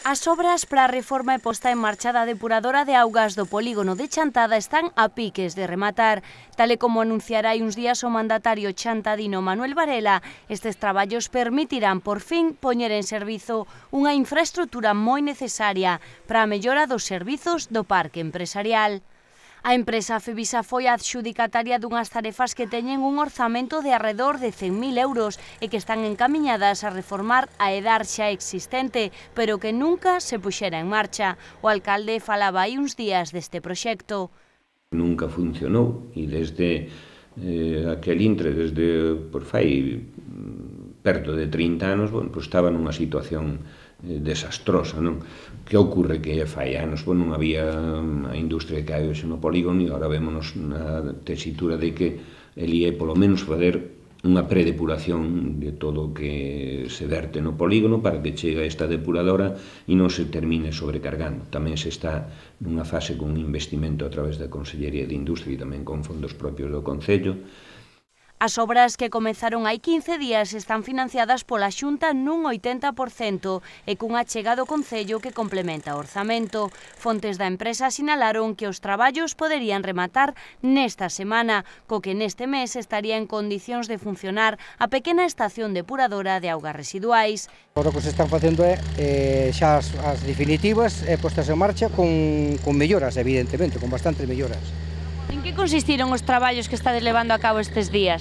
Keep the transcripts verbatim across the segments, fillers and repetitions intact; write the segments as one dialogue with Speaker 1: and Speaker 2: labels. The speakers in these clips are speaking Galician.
Speaker 1: As obras para a reforma e posta en marcha da depuradora de augas do polígono de Chantada están a piques de rematar. Tal e como anunciará hai uns días o mandatario chantadino Manuel Varela, estes traballos permitirán por fin poñer en servizo unha infraestrutura moi necesaria para a mellora dos servizos do parque empresarial. A empresa Fevisa foi a adxudicataria dunhas tarefas que teñen un orzamento de arredor de cen mil euros e que están encamiñadas a reformar a edar xa existente, pero que nunca se puxera en marcha. O alcalde falaba hai uns días deste proxecto.
Speaker 2: Nunca funcionou e desde eh, aquel intre, desde por fai perto de trinta anos, bueno, pues estaba nunha situación eh, desastrosa, non? Que ocorre que fai anos, bueno, non había a industria que hai hoxe no polígono e agora vémonos na tesitura de que eli é polo menos fazer unha predepuración de todo o que se verte no polígono para que chegue a esta depuradora e non se termine sobrecargando. Tamén se está nunha fase con un investimento a través da Consellería de Industria e tamén con fondos propios do Concello.
Speaker 1: As obras que comezaron hai quince días están financiadas pola Xunta nun oitenta por cento e cunha achega do Concello que complementa o orzamento. Fontes da empresa sinalaron que os traballos poderían rematar nesta semana, co que neste mes estaría en condicións de funcionar a pequena estación depuradora de augas residuais.
Speaker 3: O que se están facendo é eh, xa as, as definitivas e postas en marcha con, con melloras, evidentemente, con bastantes melloras.
Speaker 1: En que consistiron os traballos que estades levando a cabo estes días?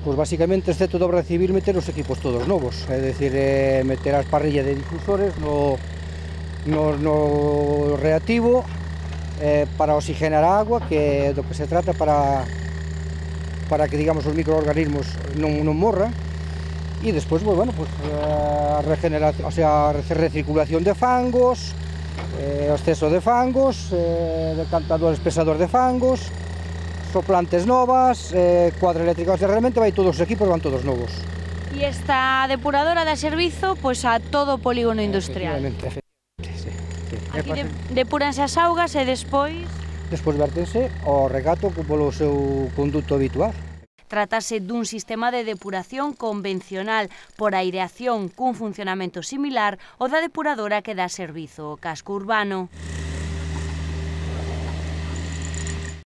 Speaker 3: Pois basicamente, excepto de obra civil, meter os equipos todos novos, é dicir, eh, meter as parrillas de difusores no, no, no reactivo eh, para oxigenar a agua, que é do que se trata para, para que, digamos, os microorganismos non, non morran. E despois, bueno, pues, a regeneración, o sea, a recirculación de fangos, eh, o exceso de fangos, eh, decantadores pesadores de fangos, soplantes novas, eh, cuadra eléctrica, o sea, realmente vai todos os equipos, van todos novos.
Speaker 1: E esta depuradora dá servizo pois, a todo o polígono industrial.
Speaker 3: Efectivamente, efectivamente, sí, sí.
Speaker 1: Aquí de, depuranse as augas e despois...
Speaker 3: Despois vértense ao regato polo seu conduto habitual.
Speaker 1: Trátase dun sistema de depuración convencional por aireación cun funcionamento similar ao da depuradora que dá servizo ao casco urbano.